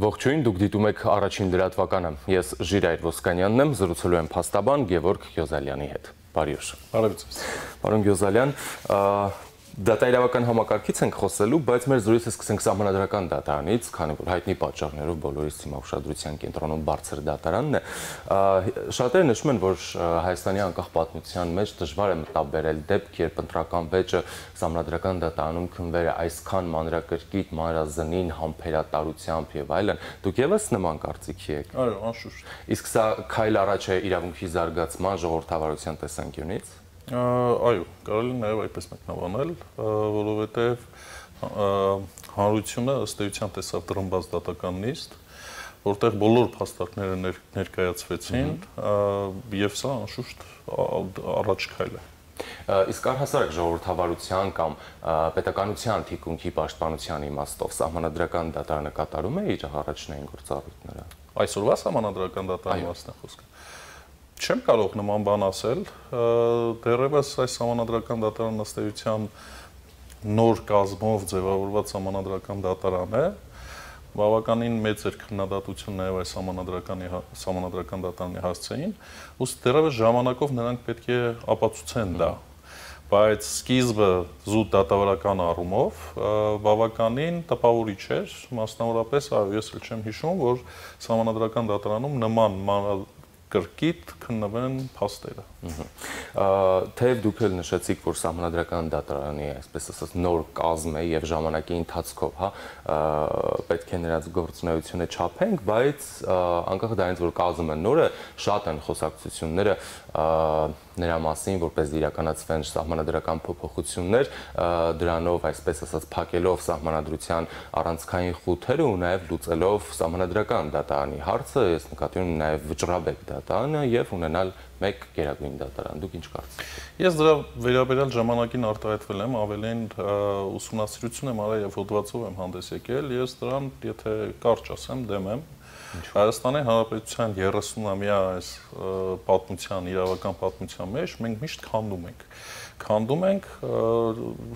Ողջույն, դուք դիտում եք առաջին լրատվականը։ Ես Ժիրայր Ոսկանյանն եմ, զրուցելու եմ փաստաբան Գևորգ Գյոզալյանի հետ։ Բարի օր։ Բարև ձեզ։ Պարոն Գյոզալյան, դատայրավական համակարգից ենք խոսելու, բայց մեր զրույցը սկսենք սահմանադրական դատարանից, քանի որ հայտնի պատճառներով բոլորիս թիմա ուշադրության կենտրոնում բարձր դատարանն է։ Շատերը նշում են, որ Հայաստանի անկախ պատմության մեջ դժվար է մտաբերել դեպք, երբ ընտրական վեճը սահմանադրական դատարանում քննվել է այսքան մանրակրկիտ, մանրազնին, համբերատարությամբ եւ այլն։ Դուք եւս նման կարծիքի եք։ Այո, անշուշտ։ Իսկ սա քայլ առաջ է իրավունքի զարգացման, ժողովրդավարության տեսանկյունից։ Այո, կարելի է նաև այդպես մեկնաբանել, որովհետև հանրությունը ըստ էության տեսավ տրմբած դատական նիստ, որտեղ բոլոր փաստարկները ներկայացվեցին, եւ սա անշուշտ առաջ քայլ է։ Իսկ առհասարակ ժողովրդավարության կամ պետականության թիկունքի պաշտպանության իմաստով սահմանադրական դատարանը կատարում է իր առաջնային գործառույթները։ Այսօրվա սահմանադրական դատարանի մասն է խոսքը։ Չեմ կարող նման բան ասել, դեռևս այս սահմանադրական դատարանն ըստ էության նոր կազմով ձևավորված սահմանադրական դատարան է, բավականին մեծ էր քննադատություն նաև այս սահմանադրական դատարանի հասցեին, ուստի դեռևս ժամանակով նրանք պետք է ապացուցեն դա, բայց սկիզբը զուտ դատավարական առումով բավականին տպավորիչ էր, մասնավորապես ես էլ չեմ հիշում, որ սահմանադրական դատարանում նման կրկիտ քննվեն փաստերը։ Թեև դուք էլ նշեցիք, որ սահմանադրական դատարանի, այսպես ասած, նոր կազմ է եւ ժամանակի ընթացքով, պետք է նրանց գործունեությունը չափենք, բայց անկախ դրանից, որ կազմը նոր է, շատ են խոսակցությունները նրա մասին, որպես իրականացվեն սահմանադրական փոփոխություններ, դրանով, այսպես ասած, փակելով սահմանադրության առանցքային խութերը ու նաև լուծելով սահմանադրական դատարանի հարցը, ես նկատի ունեմ նաև վճռաբեկ դատարանը եւ ունենալ մեկ գերագույն դատարան։ Դուք ինչ կարծիք եք։ Ես դրա վերաբերյալ ժամանակին արտահայտվել եմ, ավելին ուսումնասիրություն եմ արել եւ հոդվածով եմ հանդես եկել, ես դրան, եթե կարճ ասեմ, դեմ եմ։ Հայաստանի Հանրապետության 30-ամյա այս պատմության, իրավական պատմության մեջ մենք միշտ քանդում ենք։ Քանդում ենք,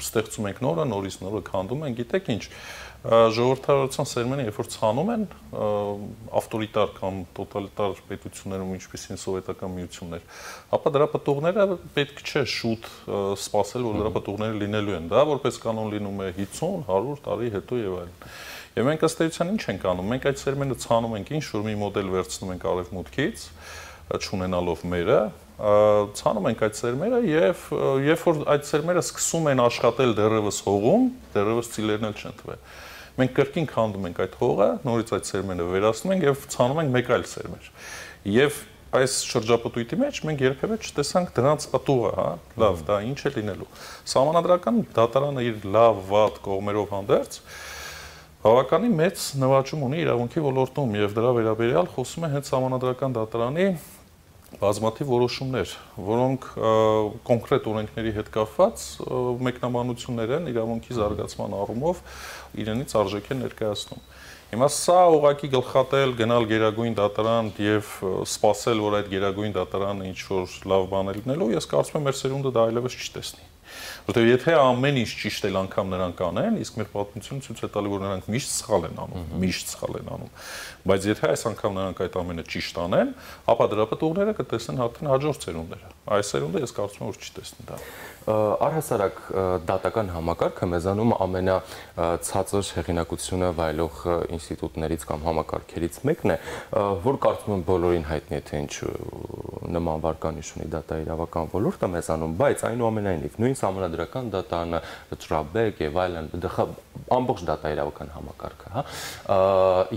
ստեղծում ենք նորը, նորից նորը քանդում ենք, գիտեք ինչ, ժողովրդավարության սերմենը երբ որ ցանում են ավտորիտար կամ տոտալիտար պետություններում, ինչպիսին սովետական միություններ, ապա դրա պտուղները պետք չէ շուտ սպասել, որ դրա պտուղները լինելու են, դա որպես կանոն լինում է 50-100 տարի հետո եւ այլն։ Եվ մենք ըստ էության ինչ ենք անում, մենք այդ սերմենը ցանում ենք, ինչ-որ մի մոդել վերցնում ենք արևմուտքից, չունենալով մերը, ցանում ենք այդ սերմերը եւ երբ որ այդ սերմերը սկսում են աշխատել դեռևս հողում, դեռևս ծիլերն էլ չեն տվել։ Մենք կրկին քանդում ենք այդ հողը, նորից այդ սերմերը վերացնում ենք եւ ցանում ենք մեկ այլ սերմեր։ Եվ այս շրջապտույտի մեջ մենք երբևէ չտեսանք դրանց պտուղը, հա, լավ, դա ինչ է լինելու։ Սահմանադրական դատարանը իր լավ, վատ կողմերով հանդերձ բավականին մեծ նվաճում ունի իրավունքի ոլորտում եւ դրա վերաբերյալ խոսում է հենց սահմանադրական դատարանի բազմաթիվ որոշումներ, որոնք կոնկրետ օրենքների հետ կապված մեկնաբանություններ են իրավունքի զարգացման առումով իրենից արժեք են ներկայացնում։ Հիմա սա ուղղակի գլխատել գնալ գերագույն դատարան եւ սպասել, որ այդ գերագույն դատարանը ինչ որ լավ բան է լինելու, ես կարծում եմ մեր սերունդը դա այլևս չի տեսնի։ Որտեղ եթե ամեն ինչ ճիշտ էլ անգամ նրանք անեն, իսկ մեր պատմությունը ցույց է տալի, որ նրանք միշտ սխալ են անում, միշտ սխալ են անում։ Բայց եթե այս անգամ նրանք այդ ամենը ճիշտ անեն, ապա դրա պտուղները կտեսնեն հատեն հաջորդ սերունդները։ Այս սերունդը ես կարծում եմ, որ չի տեսնի դա։ Առհասարակ դատական համակարգը մեզանում ամենացածր հեղինակությունը վայելող ինստիտուտներից կամ համակարգերից մեկն է, որ կարծում եմ բոլորին հայտնի է, թե ինչ նման վարկանիշ ունի դատաիրավական ոլորտը մեզանում, բայց այնուամենայնիվ նույն սահմանադրական դատարանը, վճռաբեկ եւ այլն, ամբողջ դատաիրավական համակարգը, հա,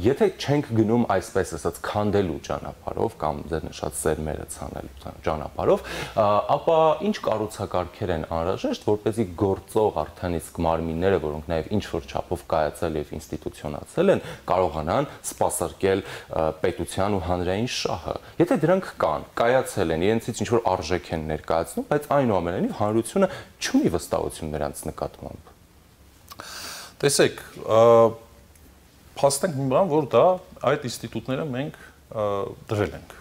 եթե չենք գնում այսպես ասած քանդելու ճանապարհով կամ ձեր նշած սերմերը ցանելու ճանապարհով, ապա ինչ կառուցակարգեր են անհրաժեշտ, որպեսզի գործող արդեն իսկ մարմինները, որոնք նաև ինչ-որ չափով կայացել եւ ինստիտուցիոնացել են, կարողանան սպասարկել պետության ու հանրային շահը։ Եթե դրանք կան, կայացել են, իրենցից ինչ-որ արժեք են ներկայացնում, բայց այնուամենայնիվ հանրությունը չունի վստահություն նրանց նկատմամբ։ Տեսեք, փաստենք մի բան, որ դա այդ ինստիտուտները մենք դրել ենք։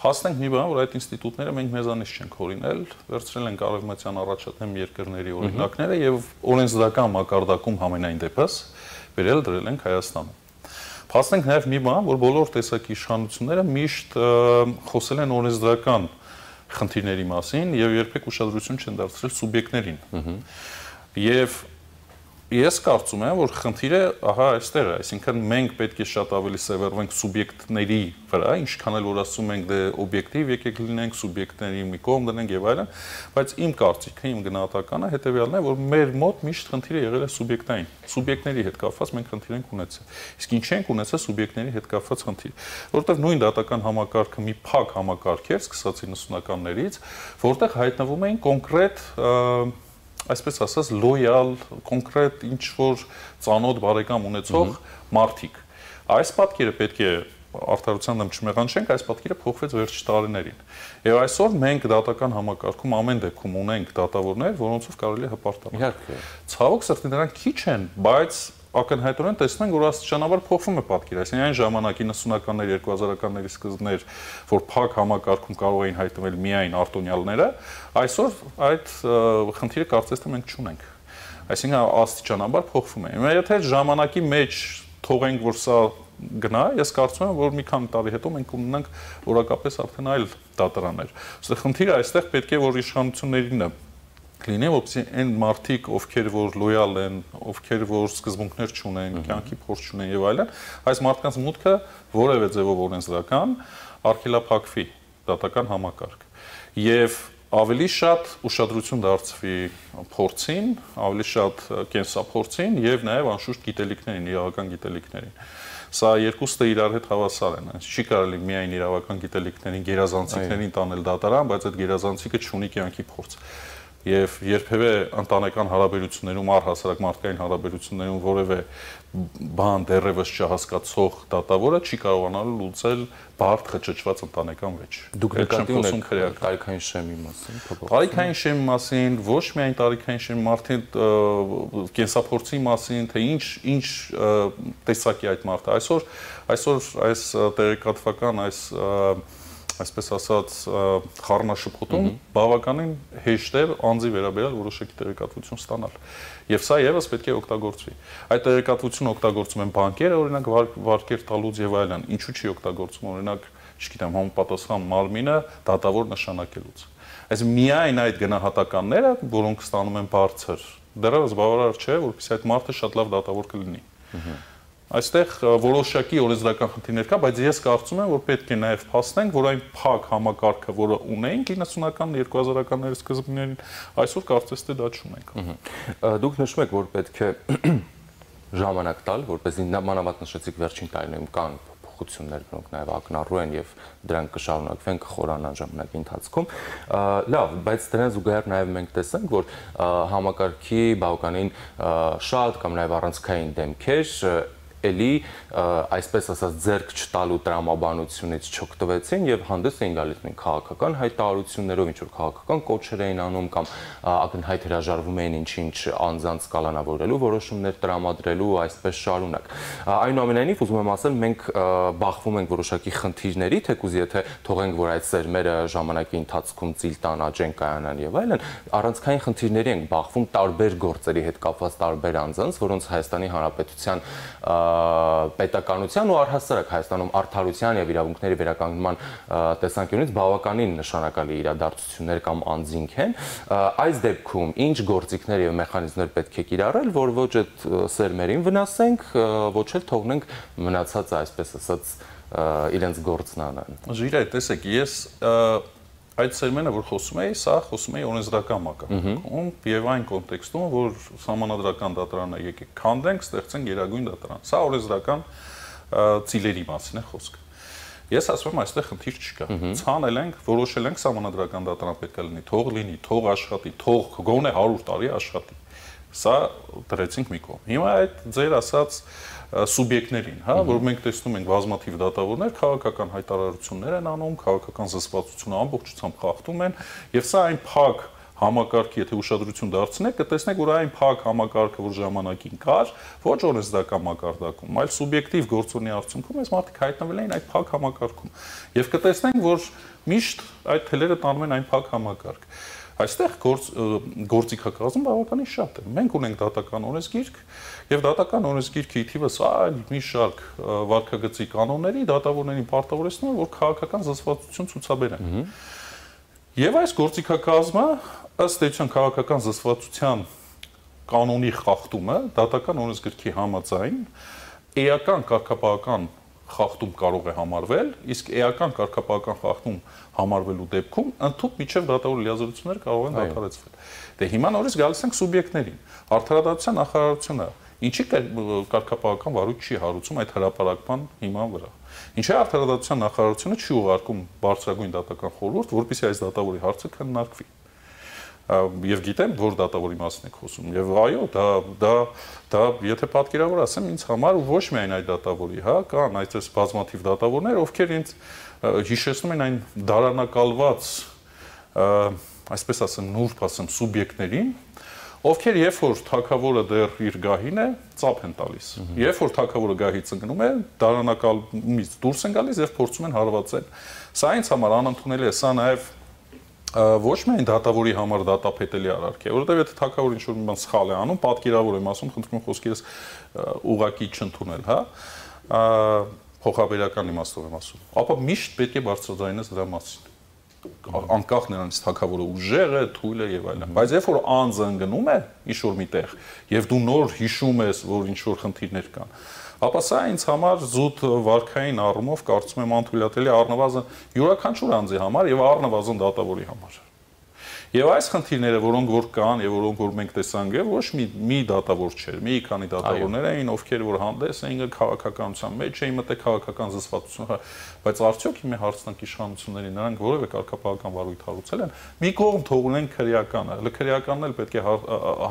Փաստենք մի բան, որ այդ ինստիտուտները մենք մեզանից չենք հորինել, վերցրել ենք արևմտյան առաջադեմ երկրների օրինակները եւ օրենսդրական մակարդակում համենայն դեպս վերել դրել ենք Հայաստանում։ Փաստենք նաև մի բան, որ բոլոր տեսակի իշխանությունները միշտ խոսել են օրենսդրական խնդիրների մասին եւ երբեք ուշադրություն չեն դարձրել սուբյեկտներին։ Եվ ես կարծում եմ, որ խնդիրը ահա այստեղ է, այսինքն մենք պետք է շատ ավելի սևեռվենք սուբյեկտների վրա, ինչքան էլ որ ասում ենք դե օբյեկտիվ եկեք լինենք, սուբյեկտների մի կողմ դնենք եւ այլն, բայց իմ կարծիքը, իմ գնահատականը հետեւյալն է, որ մեր մոտ միշտ խնդիրը եղել է սուբյեկտային։ Սուբյեկտների հետ կապված մենք խնդիր ենք ունեցել։ Իսկ ինչ ենք ունեցել սուբյեկտների հետ կապված խնդիր, որովհետեւ նույն դատական համակարգը մի փակ համակարգ էր, սկսած 90-ականներից, որտեղ հայտնվում էին կոնկրետ այսպես ասած լոյալ, կոնկրետ ինչ-որ ծանոթ բարեկամ ունեցող մարդիկ։ Այս պատկերը պետք է արդարության դեմ չմեղանչենք, այս պատկերը փոխվեց վերջի տարիներին։ Եվ այսօր մենք դատական համակարգում ամեն դեպքում ունենք դատավորներ, որոնցով կարելի է հպարտանալ։ Իհարկե։ Ցավոք սրտի նրանք քիչ են, բայց ակնհայտորեն տեսնում ենք, որ աստիճանաբար փոխվում է պատկերը։ Այսինքն այն ժամանակ 90-ականների, 2000-ականների սկզբներ, որ փակ համակարգում կարող էին հայտնվել միայն արտոնյալները, այսօր այդ խնդիրը կարծես թե մենք չունենք։ Այսինքն աստիճանաբար փոխվում է։ Հիմա եթե ժամանակի մեջ թողենք, որ սա գնա, ես կարծում եմ, որ մի քանի տարի հետո մենք ունենանք որակապես արդեն այլ դատարաններ։ Ըստ խնդիրը այստեղ պետք է որ իշխանություններին լինի, որպեսզի այն մարդիկ, ովքեր որ լոյալ են, ովքեր որ սկզբունքներ չունեն, կյանքի փորձ չունեն եւ այլն, այս մարդկանց մուտքը որևէ ձևով օրենսդրական արգելափակվի դատական համակարգ։ Եվ ավելի շատ ուշադրություն դարձվի փորձին, ավելի շատ կենսափորձին եւ նաեւ անշուշտ գիտելիքներին, իրավական գիտելիքներին։ Սա երկուսը իրար հետ հավասար են, չի կարելի միայն իրավական գիտելիքներին, գերազանցիկներին տանել դատարան, բայց այդ գերազանցիկը չունի կյանքի փորձ։ Եվ երբևէ ընտանեկան հարաբերություններում, առհասարակ մարդկային հարաբերություններում որևէ բան դեռևս չհասկացող դատավորը չի կարողանալու լուծել բարդ խճճված ընտանեկան վեճ։ Դուք նկատի ունեք տարիքային շեմի մասին, տարիքային շեմի մասին, ոչ միայն տարիքային շեմի մարդին կենսափորձի մասին, թե ինչ տեսակի այդ մարդը։ Այսօր այս տեղեկատվական այսպես ասած խառնաշփոթում բավականին հեշտ է անձի վերաբերյալ որոշակի տեղեկատվություն ստանալ։ Եվ սա եւս պետք է օգտագործվի։ Այդ տեղեկատվությունը օգտագործում են բանկերը, օրինակ վարկեր տալուց եւ այլն։ Ինչու՞ չի օգտագործում, օրինակ, չգիտեմ, համապատասխան մարմինը դատավոր նշանակելուց։ Այսինքն միայն այդ գնահատականները, որոնք ստանում են բարձր, դեռևս բավարար չէ, որպեսզի այդ մարդը շատ լավ դատավոր կլինի։ Այստեղ որոշակի օրենսդրական խնդիրներ կա, բայց ես կարծում եմ, որ պետք է նաև փաստենք, որ այն փակ համակարգը, որը ունենք 90-ական, 2000-ականների սկզբներին, այսօր կարծես թե դա չունենք։ Դուք նշում եք, որ պետք է ժամանակ տալ, որպեսզի մանավանդ նշեցիք վերջին տարիներում կան փոփոխություններ, որոնք նաև ակնառու են եւ դրանք կշարունակվեն, կխորանան ժամանակի ընթացքում։ Լավ, բայց դրան զուգահեռ նաև մենք տեսանք, որ համակարգի բավականին շատ կամ նաև առանցքային դեմքեր էլի այսպես ասած ձեռք չտալու տրամաբանությունից չօգտվեցին եւ հանդես էին գալիս նույն քաղաքական հայտարարություններով, ինչ որ քաղաքական կոչեր էին անում կամ ակնհայտ հրաժարվում էին ինչ-ինչ անձանց կալանավորելու որոշումներ տրամադրելու, այսպես շարունակ։ Այնուամենայնիվ ուզում եմ ասել, մենք բախվում ենք որոշակի խնդիրների, թեկուզ եթե թողենք, որ այդ սերմերը ժամանակի ընթացքում ծիլ տան, աճեն, կայանան եւ այլն, առանցքային խնդիրների ենք բախվում տարբեր գործերի հետ կապված տարբեր անձանց, որոնց Հայաստանի Հանրապետության պետականության ու առհասարակ Հայաստանում արդարության եւ իրավունքների վերականգնման տեսանկյունից բավականին նշանակալի իրադարձություններ կամ անձինք են։ Այս դեպքում ինչ գործիքներ եւ մեխանիզմներ պետք է կիրառել, որ ոչ այդ սերմերին վնասենք, ոչ էլ թողնենք մնացածը, այսպես ասած, իրենց գործն անեն։ Ժիրայ, տեսեք, ես այդ սերմենը, որ խոսում էի, սա խոսում էի օրենսդրական մակարդակում եւ այն կոնտեքստում, որ սահմանադրական դատարանը եկեք քանդենք, ստեղծենք գերագույն դատարան։ Սա օրենսդրական ծիլերի մասին է խոսքը։ Ես ասում եմ, այստեղ խնդիր չկա։ Ցանել ենք, որոշել ենք սահմանադրական դատարան պետք է լինի, թող լինի, թող աշխատի, թող գոնե 100 տարի աշխատի։ Սա դրեցինք մի կողմ։ Հիմա այդ ձեր ասած սուբյեկտներին, հա, որ մենք տեսնում ենք բազմաթիվ դատավորներ, քաղաքական հայտարարություններ են անում, քաղաքական զսպվածությունը ամբողջությամբ խախտում են, եւ սա այն փակ համակարգի, եթե ուշադրություն դարձնեք, կտեսնեք, որ այն փակ համակարգը, որ ժամանակին կար, ոչ օրենսդրական մակարդակում, այլ սուբյեկտիվ գործոնի արդյունքում այս մարդիկ հայտնվել էին այդ փակ համակարգում։ Եվ կտեսնենք, որ միշտ այդ թելերը տանում են այն փակ համակարգ։ Այստեղ գործիքակազմը բավականին շատ է։ Մենք ունենք դատական օրենսգիրք եւ դատական օրենսգիրքի թիվս այլ մի շարք վարքագծի կանոնների դատավորներին պարտավորեցնում որ քաղաքական զսպվածություն ցուցաբերեն։ Եվ այս գործիքակազմը ըստ էության քաղաքական զսպվածության կանոնի խախտումը դատական օրենսգրքի համաձայն էական կարգապահական խախտում կարող է համարվել, իսկ էական կարգապահական խախտում համարվելու դեպքում ընդհանուր միջև դատավորի լիազորությունները կարող են դադարեցվել։ Դե հիմա նորից գալիս ենք սուբյեկտներին։ Արդարադատության նախարարությունը ինչի կարգապահական վարույթ չի հարուցում այդ հրապարակման հիման վրա։ Ինչի արդարադատության նախարարությունը չի ուղարկում բարձրագույն դատական խորհուրդ, որպեսզի այս դատավորի հարցը քննարկվի։ Եվ գիտեմ, որ դատավորի մասին եք խոսում։ Եվ այո, դա եթե պատկերավոր ասեմ, ինձ համար ու ոչ միայն այդ դատավորի, հա, կան այդպես բազմաթիվ դատավորներ, ովքեր ինձ հիշեցնում են այն դարանակալված, այսպես ասեմ, նուրբ ասեմ, սուբյեկտներին, ովքեր երբ որ թագավորը դեռ իր գահին է, ծափ են տալիս։ Երբ որ թագավորը գահից ընկնում է, դարանակալից դուրս են գալիս եւ փորձում են հարվածել։ Սա ինձ համար անընդունելի է, սա նաեւ ոչ միայն դատավորի համար դատապետելի արարք է, որովհետև եթե թագավորը ինչ-որ մի բան սխալ է անում, պատկերավոր եմ ասում, խնդրում եմ խոսքերս ուղղակի չընդունել, հա, փոխաբերական իմաստով եմ ասում, ապա միշտ պետք է բարձրաձայնես դրա մասին, անկախ նրանից թագավորը ուժեղ է, թույլ է եւ այլն, բայց երբ որ անձը ընկնում է ինչ-որ միտեղ եւ դու նոր հիշում ես, որ ինչ-որ խնդիրներ կան, ապա սա ինձ համար զուտ վարքային առումով կարծում եմ անթույլատելի առնվազն յուրաքանչյուր անձի համար եւ առնվազն դատավորի համար։ Եվ այս խնդիրները, որոնք որ կան եւ որոնք որ մենք տեսանք, ոչ մի դատավոր չէր, մի քանի դատավորներ էին, ովքեր որ հանդես էին քաղաքականության մեջ, էին մտել քաղաքական զսպվածություն, բայց արդյոք հիմա հարցնանք իշխանություններին, նրանք որևէ կարգապահական վարույթ հարուցել են, մի կողմ թողնեն քրեականը, հələ քրեականն էլ պետք է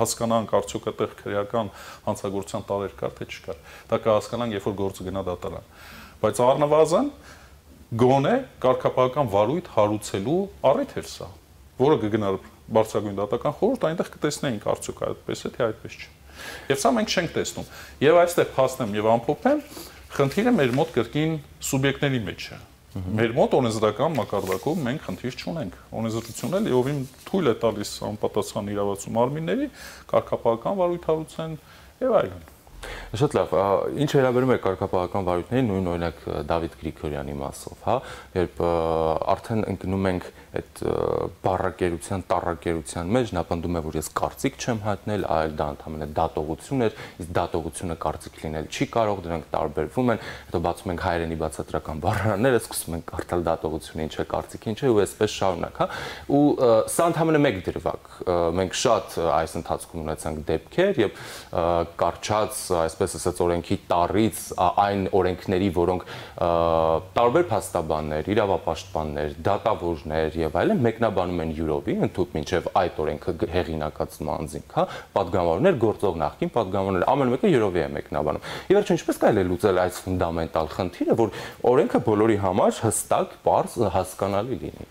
հասկանանք արդյոք այդտեղ քրեական հանցագործության տարեր կար թե չկար։ Դա կհասկանանք, երբ որ գործը գնա դատարան։ Բայց առնվազն գոնե կարգապահական վարույթ հարուցելու առիթ էր սա, որը կգնար բարձրագույն դատական խորհուրդ, այնտեղ կտեսնեինք արդյոք այդպես է թե այդպես չէ։ Եվ սա մենք չենք տեսնում։ Եվ այստեղ փաստեմ եւ ամփոփեմ, խնդիրը մեր մոտ կրկին սուբյեկտների մեջ է։ Մեր մոտ օրենսդրական մակարդակում մենք խնդիր չունենք։ Օրենսդրությունն էլ իովին թույլ է տալիս անպատասխան իրավացու մարմինների կարգապահական վարույթ հարուցեն եւ այլն։ Շատ լավ, ինչ վերաբերում է կարգապահական վարույթներին, նույն օրինակ Դավիթ Գրիգորյանի մասով, հա, երբ արդեն ընկնում ենք այդ բառակերության, տառակերության մեջ, նա պնդում է, որ ես կարծիք չեմ հայտնել, այլ դա ընդհանրապես դատողություն էր, իսկ դատողությունը կարծիք լինել չի կարող, դրանք տարբերվում են, հետո բացում ենք հայերենի բացատրական բառարանները, սկսում ենք կարդալ դատողությունը ինչ է, կարծիքը ինչ է, ու այսպես շարունակ, հա, ու սա ընդհանրապես մեկ դրվագ, մենք շատ այս ընթացքում ունեցանք դեպքեր եւ կարճած այսպես ասած օրենքի տառից այն օրենքների, որոնք տարբեր փաստաբաններ, իրավապաշտպաններ, դատավորներ եւ այլն մեկնաբանում են յուրովի, ընդհանուր մինչեւ այդ օրենքը հեղինակացնում անձինք, հա, падգամավորներ, գործող նախկին падգամավորներ, ամեն մեկը յուրովի է մեկնաբանում։ Եվ վերջին ինչպես կարելի է լուծել այս ֆունդամենտալ խնդիրը, որ օրենքը բոլորի համար հստակ, պարզ, հասկանալի լինի։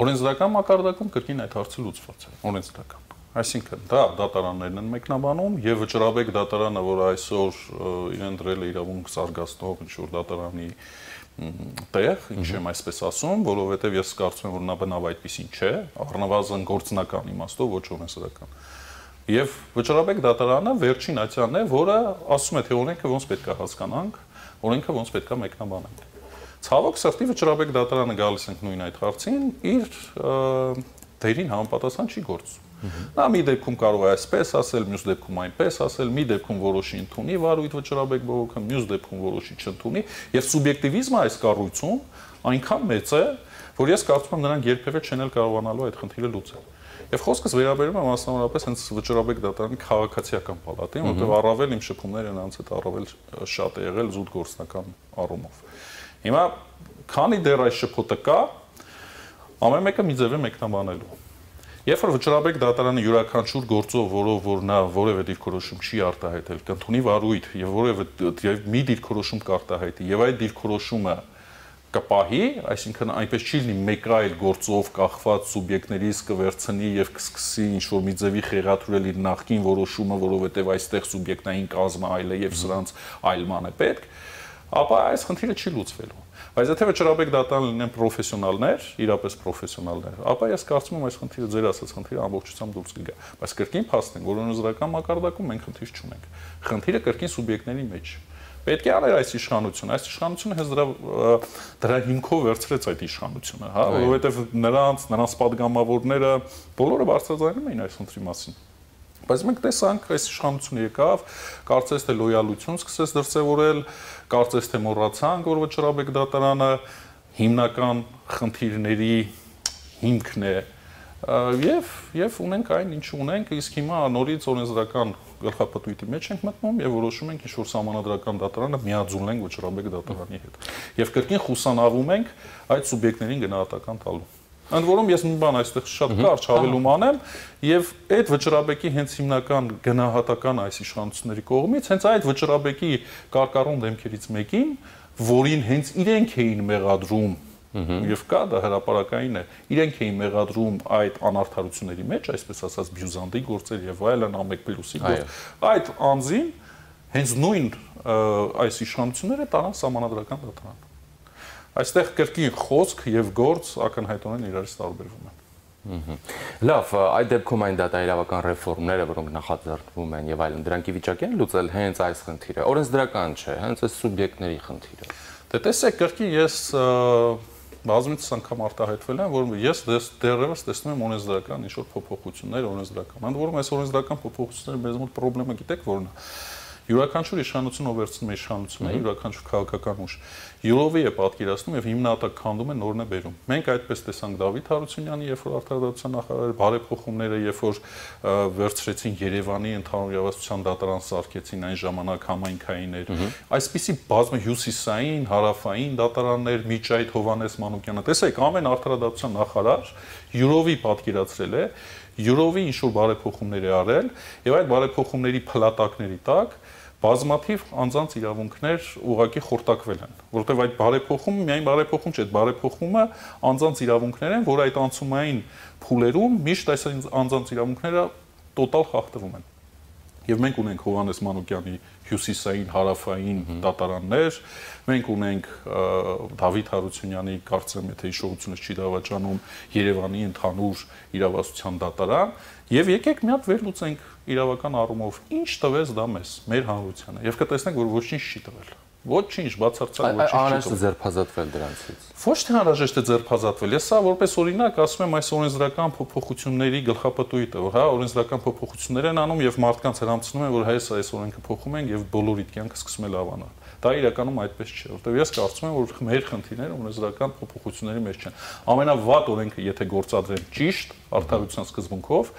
Օրենսդրական մակարդակում կրկին այդ հարցը լուծված է, օրենսդրական։ Այսինքն դա դատարաններն են մեկնաբանում եւ վճռաբեկ դատարանը, որ այսօր իրեն դրել է իրավունք զարգացնող ինչ-որ դատարանի տեղ, ինչ եմ այսպես ասում, որովհետեւ ես կարծում եմ, որ նա բնավ այդպեսին չէ, առնվազն գործնական իմաստով, ոչ օրենսդրական։ Եվ վճռաբեկ դատարանը վերջին ատյանն է, որը ասում է, թե օրենքը ոնց պետք է հասկանանք, օրենքը ոնց պետք է մեկնաբանենք։ Ցավոք սրտի վճռաբեկ դատարանը գալիս ենք նույն այդ հարցին, իր դերին համապատասխան չի գործում։ Նա մի դեպքում կարող է այսպես ասել, մյուս դեպքում այնպես ասել, մի դեպքում որոշի ընդունի վարույթ վճռաբեկ բողոքը, մյուս դեպքում որոշի չընդունի, եւ սուբյեկտիվիզմը այս կառույցում այնքան մեծ է, որ ես կարծում եմ նրանք երբևէ չեն էլ կարողանալու այդ խնդիրը լուծել։ Եվ խոսքս վերաբերում է մասնավորապես հենց վճռաբեկ դատարանի քաղաքացիական պալատին, որտեղ առավել իմ շփումները նրանց հետ առավել շատ է եղել զուտ գործնական առումով։ Հիմա քանի դեռ այս շփոթը կա, ամեն մեկը մի ձև է մեկնաբանելու։ Երբ որ վճռաբեկ դատարանը յուրաքանչյուր գործով, որով որ նա որևէ դիրքորոշում չի արտահայտել, կընդունի վարույթ եւ որևէ մի դիրքորոշում կարտահայտի եւ այդ դիրքորոշումը կպահի, այսինքն այնպես չի լինի մեկ այլ գործով կախված սուբյեկտներից կվերցնի եւ կսկսի ինչ-որ մի ձևի խեղաթյուրել իր նախկին որոշումը, որովհետեւ այստեղ սուբյեկտային կազմը այլ է եւ սրանց այլման է պետք, ապա այս խնդիրը չի լուծվելու։ Բայց եթե վճռաբեկ դատարան լինեն պրոֆեսիոնալներ, իրապես պրոֆեսիոնալներ, ապա ես կարծում եմ այս խնդիրը ձեր ասած խնդիրը ամբողջությամբ դուրս կգա։ Բայց կրկին փաստենք, որ օրենսդրական մակարդակում մենք խնդիր չունենք։ Խնդիրը կրկին սուբյեկտների մեջ։ Պետք է աներ այս իշխանությունը։ Այս իշխանությունը հենց դրա հիմքով վերցրեց այդ իշխանությունը, հա, որովհետև նրանց падգամավորները բոլորը բարձրաձայնում էին այս խնդրի մասին։ Բայց մենք տեսանք, այս իշխանությունը եկավ, կարծես թե լոյալություն սկսեց դրսևորել, կարծես թե մոռացանք, որ վճռաբեկ դատարանը հիմնական խնդիրների հիմքն է եւ ունենք այն, ինչ ունենք, իսկ հիմա նորից օրենսդրական գլխապտույտի մեջ ենք մտնում եւ որոշում ենք ինչ-որ սահմանադրական դատարանը միաձուլենք վճռաբեկ դատարանի հետ։ Եվ կրկին խուսանավում ենք այդ սուբյեկտներին գնահատական տալու։ Ընդ որում ես մի բան այստեղ շատ կարճ հավելում անեմ եւ այդ վճռաբեկի հենց հիմնական գնահատական այս իշխանությունների կողմից հենց այդ վճռաբեկի կարկառուն դեմքերից մեկին, որին հենց իրենք էին մեղադրում եւ կա դա հրապարակային է, իրենք էին մեղադրում այդ անարդարությունների մեջ, այսպես ասած բյուզանդի գործեր եւ այլն ամեկպլյուսի գործ, այդ անձին հենց նույն այս իշխանությունները տարան սահմանադրական դատարան։ Այստեղ կրկին խոսք եւ գործ ակնհայտորեն իրարից տարբերվում են։ Լավ, այդ դեպքում այն դատաիրավական ռեֆորմները, որոնք նախաձեռնվում են եւ այլն, դրանք ի վիճակի են լուծել հենց այս խնդիրը։ Օրենսդրական չէ, հենց այս սուբյեկտների խնդիրը։ Դե տեսեք, կրկին ես բազմիցս անգամ արտահայտվել եմ, որ ես դեռևս տեսնում եմ օրենսդրական ինչ-որ փոփոխություններ օրենսդրական։ Ընդ որում այս օրենսդրական փոփոխությունները մեզ մոտ խնդրեմը գիտեք որն է։ Յուրաքանչյուր իշխանություն ով վերցնում է իշխանությունը, յուրաքանչյուր քաղաքական ուժ յուրովի է պատկերացնում եւ հիմնատակ քանդում է նորն է բերում։ Մենք այդպես տեսանք Դավիթ Հարությունյանի, երբ որ արտադրության նախարար բարեփոխումները, երբ որ վերցրեցին Երևանի ընդհանուր իրավասության դատարան սարքեցին այն ժամանակ համայնքային էր։ Այսպիսի բազմը հյուսիսային, հարավային դատարաններ, Միջայդ Հովանես Մանուկյանը, տեսեք, ամեն արտադրության նախարար յուրովի պատկերացրել է, յուրովի ինչ-որ բարեփոխումներ է արել եւ այդ բարեփոխումների փլատակների տակ բազմաթիվ անձանց իրավունքներ ուղղակի խորտակվել են, որովհետև այդ բարեփոխումը միայն բարեփոխում չէ, այդ բարեփոխումը անձանց իրավունքներ են, որ այդ անցումային փուլերում միշտ այս անձանց իրավունքները տոտալ խախտվում են։ Եվ մենք ունենք Հովանես Մանուկյանի հյուսիսային, հարավային դատարաններ, մենք ունենք Դավիթ Հարությունյանի, կարծեմ, եթե հիշողությունս չի դավաճանում, Երևանի ընդհանուր իրավասության դատարան, եւ եկեք մի հատ վերլուծենք իրավական առումով ինչ տվեց դա մեզ, մեր հանրությանը, եւ կտեսնենք, որ ոչինչ չի տվել։ Ոչինչ, բացարձակ ոչինչ չի տվել։ Անհրաժեշտ է ձերբազատվել դրանցից։ Ոչ թե անհրաժեշտ է ձերբազատվել, ես սա որպես օրինակ ասում եմ այս օրենսդրական փոփոխությունների գլխապտույտը, որ հա օրենսդրական փոփոխություններ են անում եւ մարդկանց հրամցնում են, որ հայս այս օրենքը փոխում են եւ բոլորի կյանքը սկսում է լավանալ։ Դա իրականում այդպես չէ, որովհետեւ ես կարծում եմ, որ մեր խնդիրները օրենսդրական փոփոխությունների մեջ չեն։ Ամենավատ օրենքը, եթե գործադրեն ճիշտ, արդարության սկզբունքով,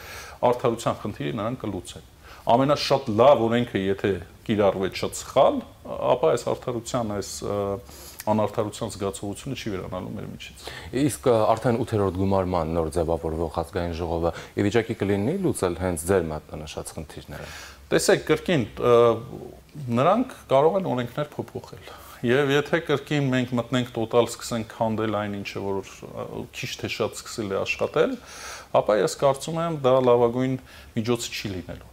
արդարության խնդիրը նրանք կլուծեն։ Ամենաշատ լավ օրենքը, եթե կիրառվեց շատ սխալ, ապա այս արդարության, այս անարդարության զգացողությունը չի վերանալու մեր միջից։ Իսկ արդեն 8-րդ գումարման նոր ձևավորվող ազգային ժողովը ի վիճակի կլինի լուծել հենց ձեր մատնանշած խնդիրները։ Տեսեք, կրկին նրանք կարող են օրենքներ փոփոխել։ Եվ եթե կրկին մենք մտնենք տոտալ սկսենք քանդել այն ինչը, որ քիչ թե շատ սկսել է աշխատել, ապա ես կարծում եմ դա լավագույն միջոցը չի լինելու։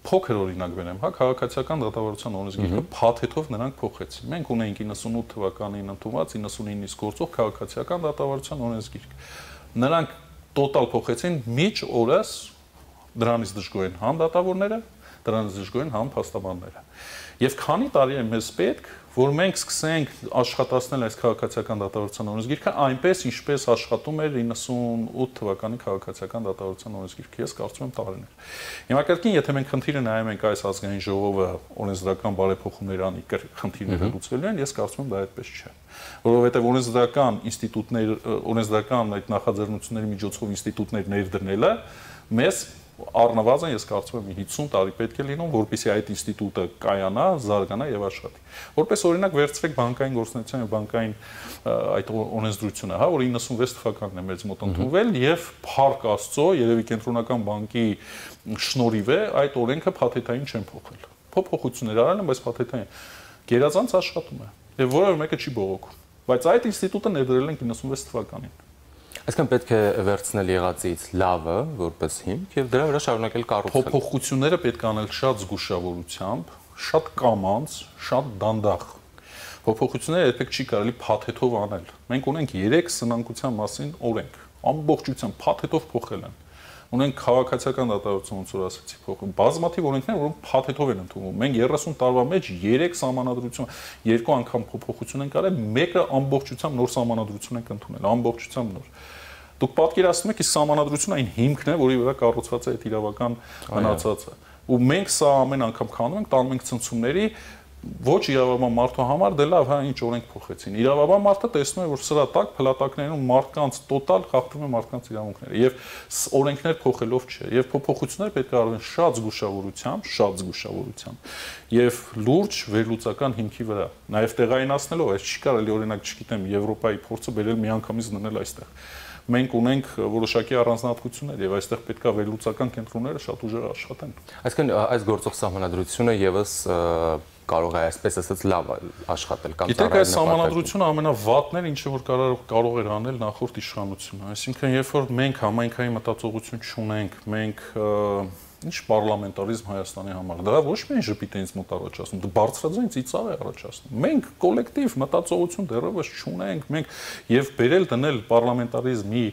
Փոքր օրինակ բերեմ, հա, քաղաքացիական դատավարության օրենսգիրքը փաթեթով նրանք փոխեցին։ Մենք ունենք 98 թվականին ընդունված 99-ից գործող քաղաքացիական դատավարության օրենսգիրք։ Նրանք տոտալ փոխեցին միջ օրս դրանից դժգոհ են համ դատավորները, դրանից դժգոհ են համ փաստաբանները։ Եվ քանի տարի է մեզ պետք, որ մենք սկսենք աշխատացնել այս քաղաքացիական դատավարության օրենսգիրքը այնպես, ինչպես աշխատում էր 98 թվականի քաղաքացիական դատավարության օրենսգիրքը, ես կարծում եմ տարիներ։ Հիմա կրկին, եթե մենք խնդիրը նայում ենք այս ազգային ժողովը օրենսդրական բարեփոխումներ անի խնդիրները լուծվելու են, ես կարծում եմ դա այդպես չէ։ Որովհետև օրենսդրական ինստիտուտներ, օրենսդրական այդ նախաձեռնությունների միջոցով ինստիտուտներ ներդնելը մեզ առնվազն ես կարծում եմ 50 տարի պետք է լինում, որպեսզի այդ ինստիտուտը կայանա, զարգանա եւ աշխատի։ Որպես օրինակ վերցրեք բանկային գործունեության եւ բանկային այդ օրենսդրությունը, հա, որ 96 թվականն է մեզ մոտ ընդունվել եւ Փառք Աստծո, երևի կենտրոնական բանկի շնորհիվ է այդ օրենքը փաթեթային չեն փոխել։ Փոփոխություններ արել են, բայց փաթեթային գերազանց աշխատում է եւ որևէ մեկը չի բողոքում։ Բայց այդ ինստիտուտը ներդրել են 96 թվականին։ Այսինքն պետք է վերցնել եղածից լավը որպես հիմք եւ դրա վրա շարունակել կառուցել։ Փոփոխությունները պետք է անել շատ զգուշավորությամբ, շատ կամաց, շատ դանդաղ, Փոփոխությունները երբեք չի կարելի փաթեթով անել։ Մենք ունենք 3 սնանկության մասին օրենք, ամբողջությամբ փաթեթով փոխել են։ Ունենք քաղաքացիական դատարանություն, ոնց որ ասացի, փոխում բազմաթիվ օրենքներ, որոնք փաթեթով են ընդունվում։ Մենք 30 տարվա մեջ 3 սահմանադրություն, 2 անգամ փոփոխություն են կարել, մեկը ամբողջությամբ նոր սահմանադրություն ենք ընդունել, ամբողջությամբ նոր։ Դուք պատկերացնում եք, այս սահմանադրությունը այն հիմքն է, որի վրա կառուցված է այդ իրավական մնացածը։ Ու մենք սա ամեն անգամ քանում ենք, տանում ենք ցնցումների, ոչ իրավաբան մարդու համար, դե լավ, հա, ինչ օրենք փոխեցին։ Իրավաբան մարդը տեսնում է, որ սրա տակ փլատակներում մարդկանց տոտալ խախտում է մարդկանց իրավունքները, եւ օրենքներ փոխելով չէ, եւ փոփոխությունները պետք է արվեն շատ զգուշավորությամբ եւ լուրջ վերլուծական հիմքի վրա։ Նաեւ տեղայնացնելով, այս չի կարելի օրինակ, չգիտեմ, Եվրոպայի փորձը բերել միանգամից դնել այստեղ։ Մենք ունենք որոշակի առանձնահատկություններ եւ այստեղ պետքա վերլուծական կենտրոնները շատ ուժեղ աշխատեն։ Այսինքն այս գործող սահմանադրությունը եւս կարող է այսպես ասած լավ աշխատել կամ ծառայել։ Գիտեք, այս սահմանադրությունը ամենավատն էր, ինչը որ կարող էր անել նախորդ իշխանությունը։ Այսինքն, երբ որ մենք համայնքային մտածողություն չունենք, մենք ինչ պարլամենտարիզմ Հայաստանի համար, դա ոչ միայն ժպիտենից մոտ առաջացնում, դա բարձրաձայն ծիծաղ է առաջացնում։ Մենք կոլեկտիվ մտածողություն դեռևս չունենք, մենք եւ բերել դնել պարլամենտարիզմի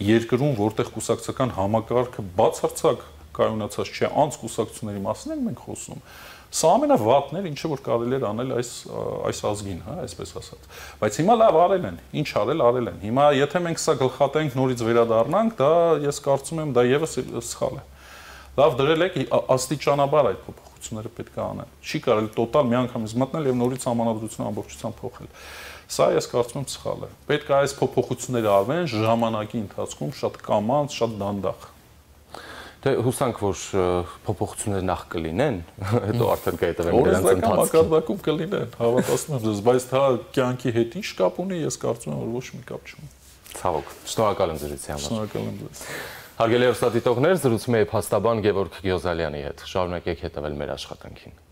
երկրում, որտեղ կուսակցական համակարգը բացարձակ կայունացած չէ, անց կուսակցությունների մասին ենք մենք խոսում։ Սա ամենավատն էր, ինչը որ կարելի էր անել այս ազգին, հա, այսպես ասած։ Բայց հիմա լավ արել են, ինչ արել են։ Հիմա եթե մենք սա գլխատենք նորից վերադառնանք, դա ես կարծում եմ դա եւս սխալ է։ Լավ դրել եք աստիճանաբար այդ փոփոխությունները պետք է անեն։ Չի կարելի տոտալ միանգամից մտնել եւ նորից համանadrությունը ամբողջությամբ փոխել։ Սա ես կարծում եմ սխալ է։ Պետք է այս փոփոխությունները արվեն ժամանակի ընթացքում շատ կամաց, շատ դանդաղ։ Դե հուսանք, որ փոփոխությունները նախ կլինեն, հետո արդեն կհետևեն դրանց ընթացքը։ Օրենսդրական մակարդակում կլինեն, հավատացնում եմ ձեզ, բայց դա կյանքի հետ ինչ կապ ունի, ես կարծում եմ, որ ոչ մի կապ չունի։ Ցավոք, շնորհակալ եմ զրույցի համար։ Շնորհակալ եմ ձեզ։ Հարգելի հեռուստադիտողներ, զրուցում էի փաստաբան Գևորգ Գյոզալյանի հետ։ Շարունակեք հետևել մեր աշխատանքին։